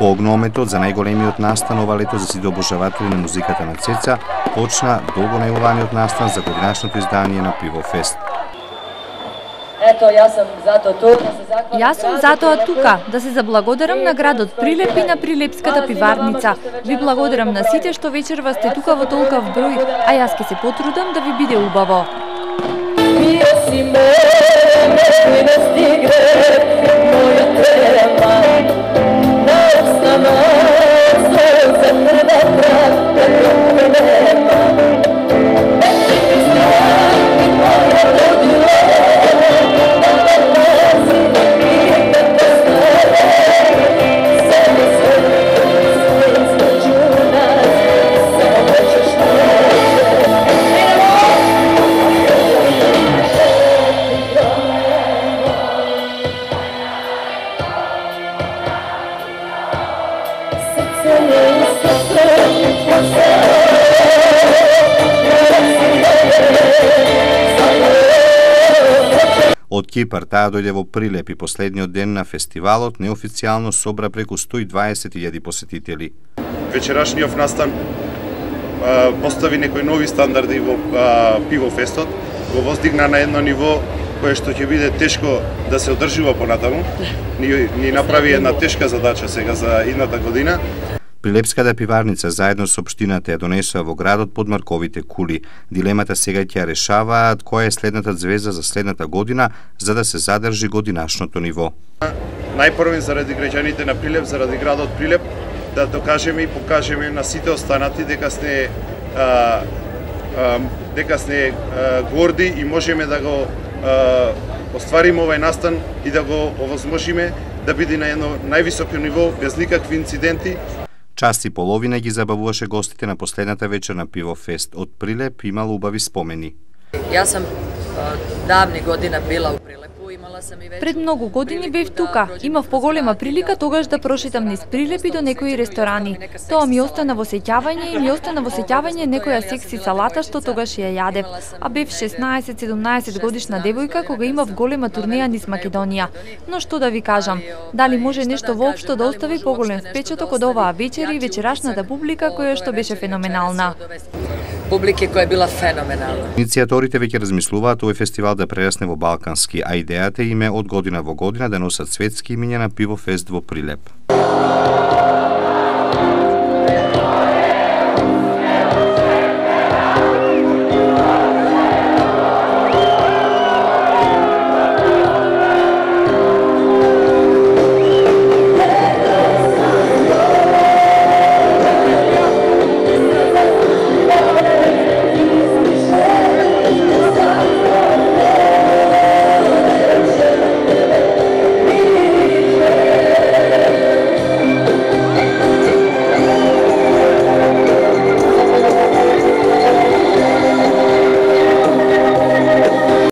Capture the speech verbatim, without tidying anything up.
По огнометот за најголемиот настан ова лето за сите обожаватели на музиката на Цеца почна долго најавуваниот настан за годинашното издание на Пивофест. Ето, јас сум зато тук да се захвалам. Јас сум затоа тука да се заблагодарам на градот Прилеп и на Прилепската пиварница. Ви благодарам на сите што вечерва сте тука во толкав број, а јас ќе се потрудам да ви биде убаво. Од Кипар таа дојде во Прилеп и последниот ден на фестивалот неофицијално собра преку сто и дваесет илјади посетители. Вечерашниот настан а, постави некои нови стандарди во а, Пивофестот, го воздигна на едно ниво кое што ќе биде тешко да се одржува понатаму. Ни, ни направи една тешка задача сега за идната година. Прилепската пиварница заедно со општината ја донесоа во градот подмарковите кули. Дилемата сега ќе решаваат која е следната звезда за следната година за да се задржи годинашното ниво. Најпрво заради граѓаните на Прилеп, заради градот Прилеп, да докажеме и покажеме на сите останати дека сте а, а, дека сте а, горди и можеме да го а, оствариме овој настан и да го овозможиме да биде на едно највисоко ниво без никакви инциденти. Час и половина ги забавуваше гостите на последната вечер на Пивофест. Од Прилеп имало убави спомени. Јас сум давни година била у Прилепу. Пред многу години бев тука. Имав поголема прилика тогаш да прошетам низ Прилеп и до некои ресторани. Тоа ми остана во сеќавање и ми остана во сеќавање некоја секси салата што тогаш ја јадев. А бев шеснаесет-седумнаесет годишна девојка кога имав голема турнеја низ Македонија. Но што да ви кажам, дали може нешто воопшто да остави поголем впечаток од оваа вечер и вечерашната публика која што беше феноменална. Публика која била феноменална. Иницијаторите веќе размислуваат овој фестивал да прерасне во балкански, а идејата им е од година во година да носат светски имиња на Пивофест во Прилеп.